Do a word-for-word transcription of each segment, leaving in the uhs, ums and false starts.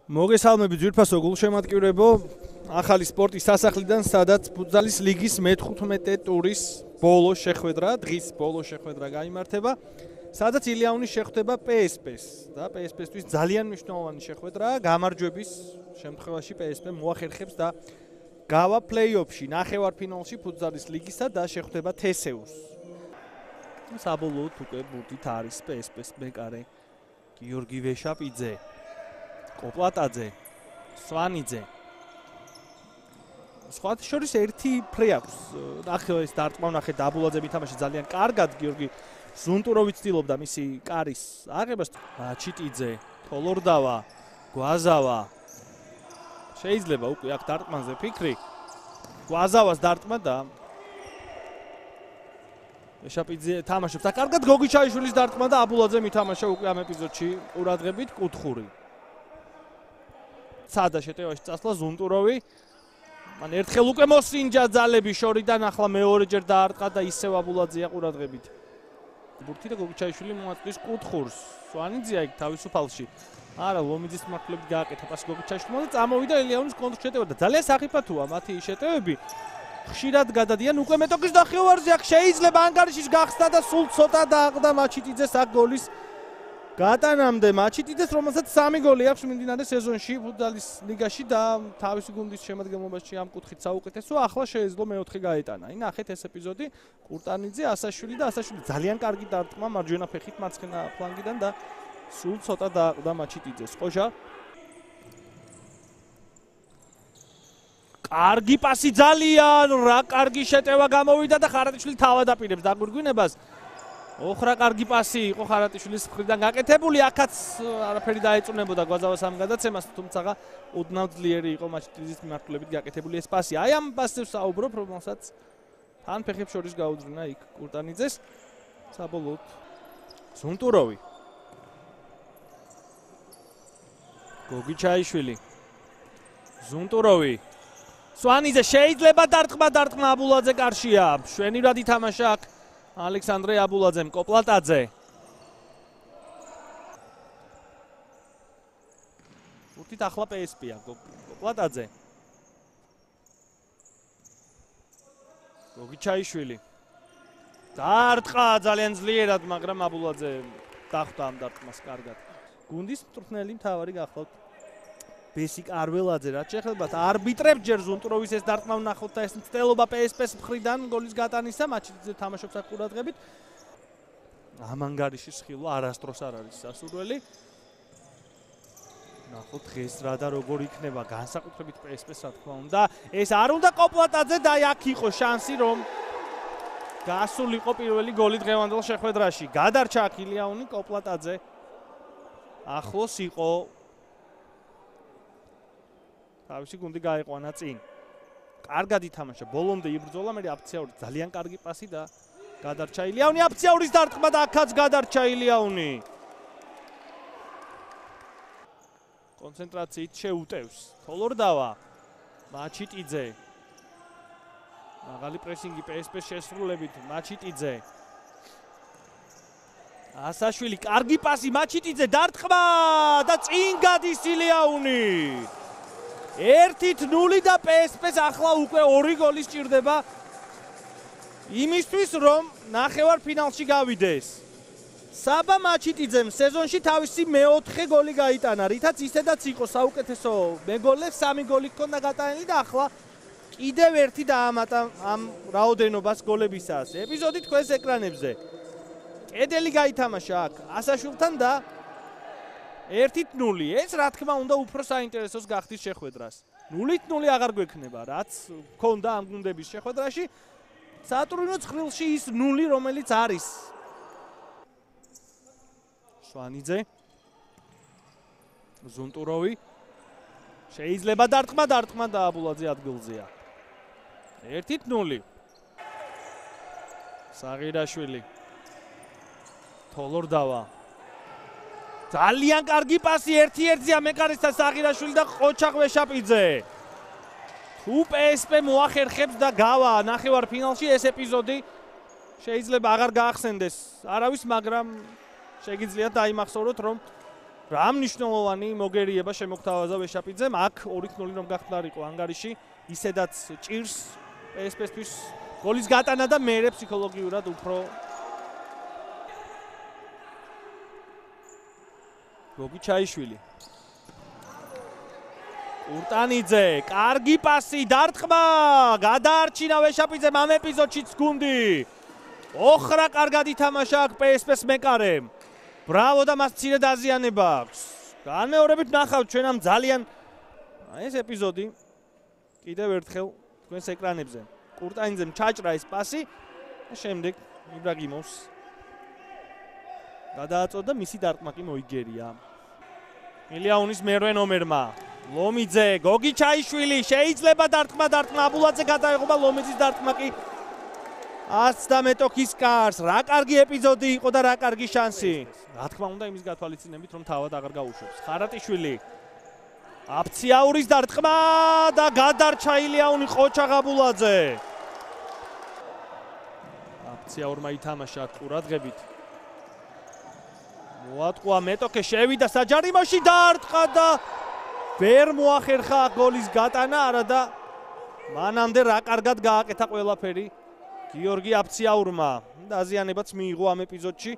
მოგესალმები ძვირფასო გულშემატკივრებო, ახალი სპორტის სასახლიდან, სადაც ფუტზალის ლიგის მეთხუთმეტე ტურის ბოლო შეხვედრა, დღის ბოლო შეხვედრა გაიმართება, სადაც ილიაუნის შეხვდება პე ეს პეს და პე ეს პესთვის ძალიან მნიშვნელოვანი შეხვედრაა, გამარჯვების შემთხვევაში პე ეს პე მოახერხებს და გავა პლეი-ოფში, ნახევარფინალში ფუტზალის ლიგისა და შეხვდება თესეუს. საბოლოოდ უკვე ბურთით არის პე ეს პეს მეკარე გიორგი ვეშაპიძე. კოპლატაძე, სვანიძე. სხვათა შორის ერთი ფლე აქვს. ნახევარის დარტყმა ნახე დაბულაძე მითამაშე ძალიან კარგად გიორგი ზუნტუროვი ცდილობდა მისი კარის აღებას. ჩიტიძე, თოლორდავა, გვაზავა. შეიძლება უკვე აქ დარტყმაზე ფიქრი. გვაზავას დარტყმა და ვეშაპიძე თამაშობს. და კარგად გოგიჩაიშვილის დარტყმა და აბულაძე მითამაშა უკვე ამ ეპიზოდში ყურადღებით კუთხური. სადა შეტევაში წასვლა ზუნტუროვი. მან ერთხელ უკვე მოსინჯა ძალები შორიდან, ახლა მეორეჯერ დაარტყა და ისევ აბულაძეა ყურადღებით. ბურთი და გოგიჩაიშვილი მოაწვის კუთხურს. სვანიძეა იქ თავისუფალში. არა, ლომიძის მართლებით გააკეთა პასი გოგიჩაიშვილმა და წამოვიდა ილიაუნის კონტრშეტევა და ძალიან სახიფათოა მათი შეტევები. ხშირად გადადიან უკვე მეტოქის ნახევარზე, აქ შეიძლება ანგარიშის გახსნა და სულ ცოტა დააყდა მაჩიტიძეს აქ გოლის გატანამდე მაჩიტიძეს, რომელსაც სამი გოლი აქვს მიმდინარე სეზონში ფუტზალის ლიგაში და თავისი გუნდის შემადგენლობაში ამ კუთხით საუკეთესო, ახლა შეეძლო მეოთხე გაეტანა. ნახეთ ეს ეპიზოდი, კურტანიძე, ასაშვილი და ასაშვილი ძალიან კარგი დარტყმა მარჯვენა ფეხით მარცხენა ფლანგიდან და სულ ცოტა დააყდა მაჩიტიძეს. ყოჟა კარგი პასი ძალიან, რა კარგი შეტევა გამოვიდა და ხარატიშვილი თავად აპირებს დაგვირგვინებას. ოხრა კარგი პასი იყო ხარატიშვილის მხრიდან გაკეთებული, აქაც არაფერი დაეწუნებოდა გვაზავას ამ გადაცემას, თუმცა ოდნავ ძლიერი იყო მაჩიტიძის მიმართულებით გაკეთებული ეს პასი. აი ამ პასებს საუბრობ, რომელსაც თან ფეხებს შორის გაუძღვნა იქ კურტანიძეს. საბოლოოდ ზუნტუროვი. გოგიჩაიშვილი. ზუნტუროვი. სვანიძე შეიძლება დარტყმა, დარტყმა აბულაძე კარშია. მშვენივრად ითამაშა აქ ალექსანდრე აბულაძემ, კოპლატაძე. ბურთით ახლა პე ეს პეა, კოპლატაძე. გოგიჩაიშვილი. დარტყმა ძალიან ძლიერად, მაგრამ აბულაძე დახვდა ამ დარტყმას კარგად. გუნდის მწვრთნელი მთავარი გახლავთ ბესიკ არველაძე, რაც შეეხებათ არბიტრებს ჯერ ზუნტუროვის ეს დარტყმა ვნახოთ და ეს მცდელობა პე ეს პეს მხრიდან გოლის გატანისა, მაჩიტიძე თამაშობს აქ ყურადღებით. ამ ანგარიშის ხილვა არასდროს არ არის სასურველი. ნახოთ დღეს რა და როგორ იქნება, განსაკუთრებით პე ეს პეს რა თქმა უნდა. ეს არ უნდა კოპლატაძე და აქ იყო შანსი რომ გასულიყო პირველი გოლი დღევანდელ შეხვედრაში. გადარჩა აქ ილიაუნი, კოპლატაძე ახლოს იყო. თავისი გუნდი გაიყვანა წინ. კარგად ითამაშა, ბოლომდე იბრძოლა, მე აფციაური ძალიან კარგი პასი და გადარჩა ილიაუნი, აფციაურის დარტყმა და აქაც გადარჩა ილიაუნი. კონცენტრაციით შეუტევს. თოლორდავა, მაჩიტიძე. მაღალი პრესინგი პე ეს პეს შესრულებით, მაჩიტიძე. ასაშვილი, კარგი პასი, მაჩიტიძე, დარტყმა და წინ გადის ილიაუნი. ერთით ნული და პე ეს პეს ახლა უკვე ორი გოლი სჭირდება იმისთვის, რომ ნახევარფინალში გავიდეს. საბა მაჩიტიძემ სეზონში თავისი მეოთხე გოლი გაიტანა, რითაც ისედაც იყო საუკეთესო მეგოლე, სამი გოლი ჰქონდა გატანილი და ახლა კიდევ ერთი დაამატა ამ რაოდენობას გოლებისას. ეპიზოდი თქვენს ეკრანებზე. კედელი გაითამაშა აქ ასაშვილთან და ერთით ნული. ეს რა თქმა უნდა უფრო საინტერესოს გახდის შეხვედრას. ნულით ნული აღარ გვექნება, რაც ჰქონდა ამ გუნდების შეხვედრაში. სატურნო ცხრილში ის ნული, რომელიც არის. სვანიძე. ზუნტუროვი. შეიძლება დარტყმა, დარტყმა და აბულაძე ადგილზეა. ერთით ნული. საღირაშვილი. თოლორდავა. ძალიან კარგი პასი ერთი-ერთზეა მეკარისთან საღირაშვილი და ყოჩაღ ვეშაპიძე. თუ პე ეს პე მოახერხებს და გავა ნახევარფინალში, ეს ეპიზოდი შეიძლება აღარ გაახსენდეს არავის, მაგრამ შეგიძლიათ დაიმახსოვროთ, რომ რა მნიშვნელოვანი მოგერიება შემოგთავაზა ვეშაპიძემ, აქ ორი ნული რომ გახდარიყო ანგარიში, ისედაც ჭირს პსპ-თვის გოლის გატანა და მერე ფსიქოლოგიურად უფრო გოგი ჩაიშვილი. ურტანიძე, კარგი პასი, დარტყმა, გადაარჩინა ვეშაპიძემ ამ ეპიზოდშიც გუნდი. ოხრა კარგად ითამაშა აქ პსპ-ს მეკარემ. ბრავო და მას მცირე დაზიანება აქვს. განმეორებით ნახავთ ჩვენ ამ ძალიან ეს ეპიზოდი კიდევ ერთხელ თქვენს ეკრანებზე. კურტანიძემ ჩაჭრა ეს პასი და შემდეგ იბრაგიმოვს გადააწოდა მისი დარტყმა კი მოიგერია. ილიანის მერვე ნომერმა ლომიძე, გოგი ჩაიშვილი, შეიძლება დარტყმა დარტყმა აბულაძე გადაეღობა ლომიძის დარტყმა კი ას და მეტოქის კარს. რა კარგი ეპიზოდი იყო და რა კარგი შანსი. რა თქმა უნდა იმის გათვალისწინებით რომ თავად აღარ გაუშვებს. ხარატიშვილი აფციაურის დარტყმა და გადარჩა ილიანი ყოჩაღ აბულაძე. აფციაურმა ითამაშა ყურადღებით. მოატყვა მეტოქე შევიდა საჯარიმოში დარტყა და ვერ მოახერხა გოლის გატანა არა და მანამდე რა კარგად გააკეთა ყველაფერი გიორგი აფციაურმა. დაზიანებაც მიიღო ამ ეპიზოდში.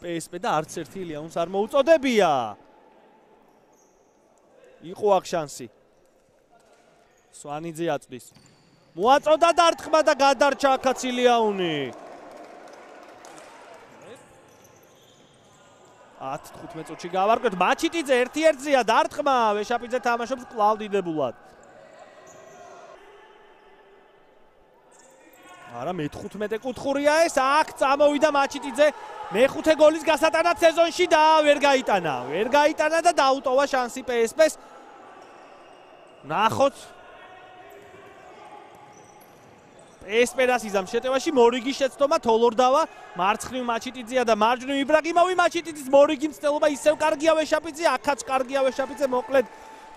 პსპ და არც ერთი ილიანს არ მოუწოდებია. იყო აქ შანსი. სვანიძე აწვდის. მოაწოდა დარტყმა და გადარჩა აქაც ილიანი. ათი თხუთმეტ წუთში გავარკვევთ. მაჩიტიძე ერთ-ერთზეა დარტყმა, ვეშაპიძე თამაშობს კვლავ დიდებულად. არა მეთხუთმეტე კუთხურია ეს, აქ წამოვიდა მაჩიტიძე მეხუთე გოლის გასატანად სეზონში და ვერ გაიტანა. ვერ გაიტანა და დაუტოვა შანსი პსპ-ს. ნახოთ პსპ-რას იზამს შეტევაში მორიგის შეცდომა თოლორდავა, მარცხნივ მაჩიტიძეა და მარჯვნივ იბრაგიმოვი. მაჩიტიძის მორიგი მცდელობა ისევ კარგია ვეშაპიძე, აქაც კარგია ვეშაპიძე. მოკლედ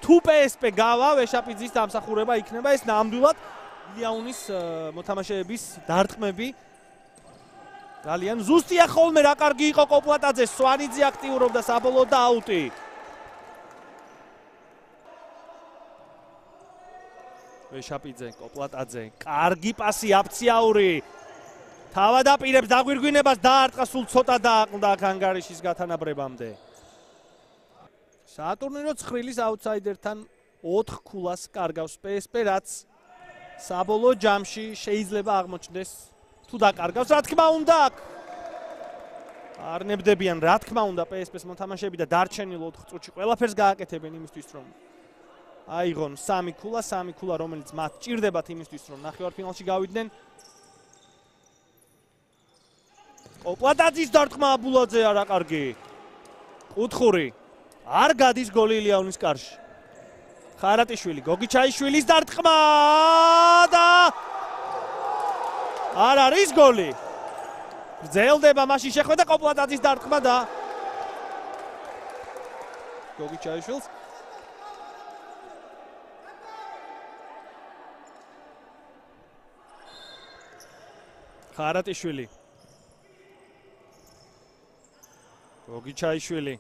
თუ პსპ გავა ვეშაპიძის დამსახურება იქნება ეს ნამდვილად ილიანის მოთამაშეების დარტყმები. ძალიან ზუსტია ხოლმე რა კარგი იყო კოპლატაძე, სვანიძე აქტიურობდა საბოლოო და აუტი. ვეშაპიძე, კოპლატაძე, კარგი პასი აფციაური. თავად აპირებს დაგვირგვინებას დაარტყა სულ ცოტა დააყნდა აქ ანგარიშის გათანაბრებამდე. საატურნირო ცხრილის აუტსაიდერთან ოთხ ქულას კარგავს პსპ, რაც საბოლოო ჯამში შეიძლება აღმოჩნდეს თუ დაკარგავს. რა თქმა უნდა აქ არ ნებდებიან რა თქმა უნდა პსპ-ს მოთამაშეები და დარჩენილ ოთხ წუთში ყველაფერს გააკეთებენ იმისთვის რომ აიღონ სამი ქულა, სამი ქულა რომელიც მათ ჭირდებათ იმისთვის რომ ნახევარფინალში გავიდნენ. კოპლატაძის დარტყმა აბულაძე არა კარგი. კუთხური არ გადის გოლი ილიანის კარში. ხარატიშვილი, გოგი ჩაიშვილის დარტყმა და არ არის გოლი. გრძელდება მაშინ შეხვედა კოპლატაძის დარტყმა და გოგი ჩაიშვილს ხარატიშვილი, გოგი ჩაიშვილი,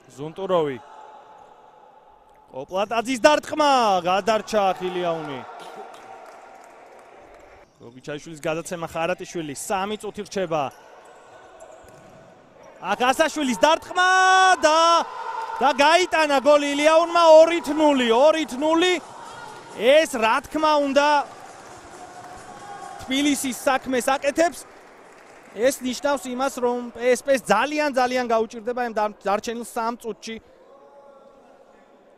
ზუნტუროვი, კოპლატაძის დარტყმა, გადარჩა ილიანი. გოგი ჩაიშვილის გადაცემა ხარატიშვილი, სამი წუთი რჩება. აქ ასაშვილის დარტყმა და და გაიტანა გოლი ილიანმა ორი ნული, ორი ნული. ეს რა თქმა უნდა თბილისის საქმეს აკეთებს. ეს ნიშნავს იმას, რომ პსპ-ს ძალიან ძალიან გაუჭირდება ამ დარჩენილ სამ წუთში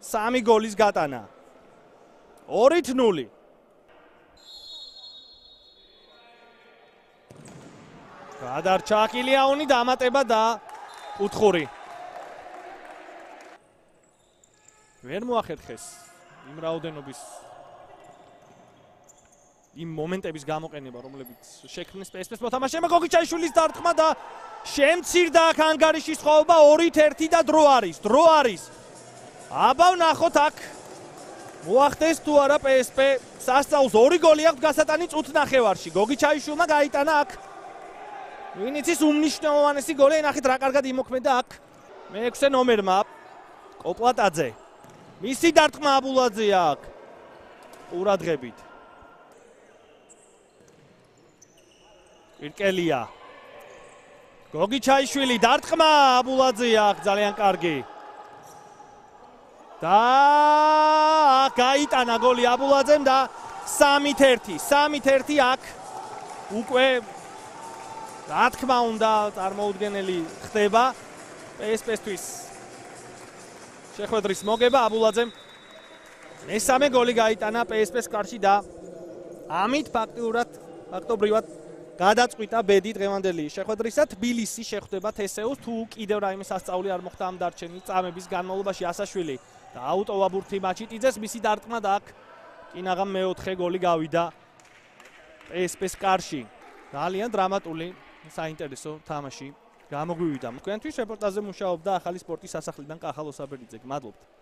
სამი გოლის გატანა. ორი ნული. გადარჩა ილიანი დამატება და კუთხური. ვერ მოახერხეს იმ რაოდენობის იმ მომენტების გამოყენება, რომლებიც შექმნეს პსპ-ს მოთამაშეებმა. გოგი ჩაიშვილის დარტყმა და შემცირდა აქ ანგარიშის ხოვება ორით ერთი და დრო არის. დრო არის. აბა ვნახოთ აქ მოახდეს თუ არა პსპ სასწაულს. ორი გოლი აქვს გასატანი წუთ ნახევარში. გოგი ჩაიშვილმა გაიტანა აქ ვინიცის უმნიშვნელოვანესი გოლი, ნახეთ რა კარგად იმოქმედა აქ. მეექვსე ნომერმა კოპლატაძე. მისი დარტყმა აბულაძე აქ. ყურადღებით. ირკელია. გოგი ჩაიშვილი დარტყმა აბულაძე აქ ძალიან კარგი. და გაიტანა გოლი აბულაძემ და სამით ერთი, სამით ერთი აქ უკვე რა თქმა უნდა წარმოუდგენელი ხდება პსპ-თვის შეხვედრის მოგება აბულაძემ მესამე გოლი გაიტანა პსპ-ს კარში და ამით ფაქტიურად ფაქტობრივად გადაწყვიტა ბედი დღევანდელი შეხვედრისა. თბილისი შეხვდება თესეუს, თუ კიდევ რაიმე სასწაული არ მოხდა ამ დარჩენილი წამების განმავლობაში ასაშვილი და აუტოვა ბურთი მაჩიტიძეს მისი დარტყმა და აქ კინაღამ მეოთხე გოლი გავიდა პსპ-ს კარში. ძალიან დრამატული, საინტერესო თამაში გამოგვივიდა. თქვენთვის რეპორტაჟზე მუშაობდა ახალი სპორტის სასახლიდან კახალ ოსაბერიძე. მადლობთ.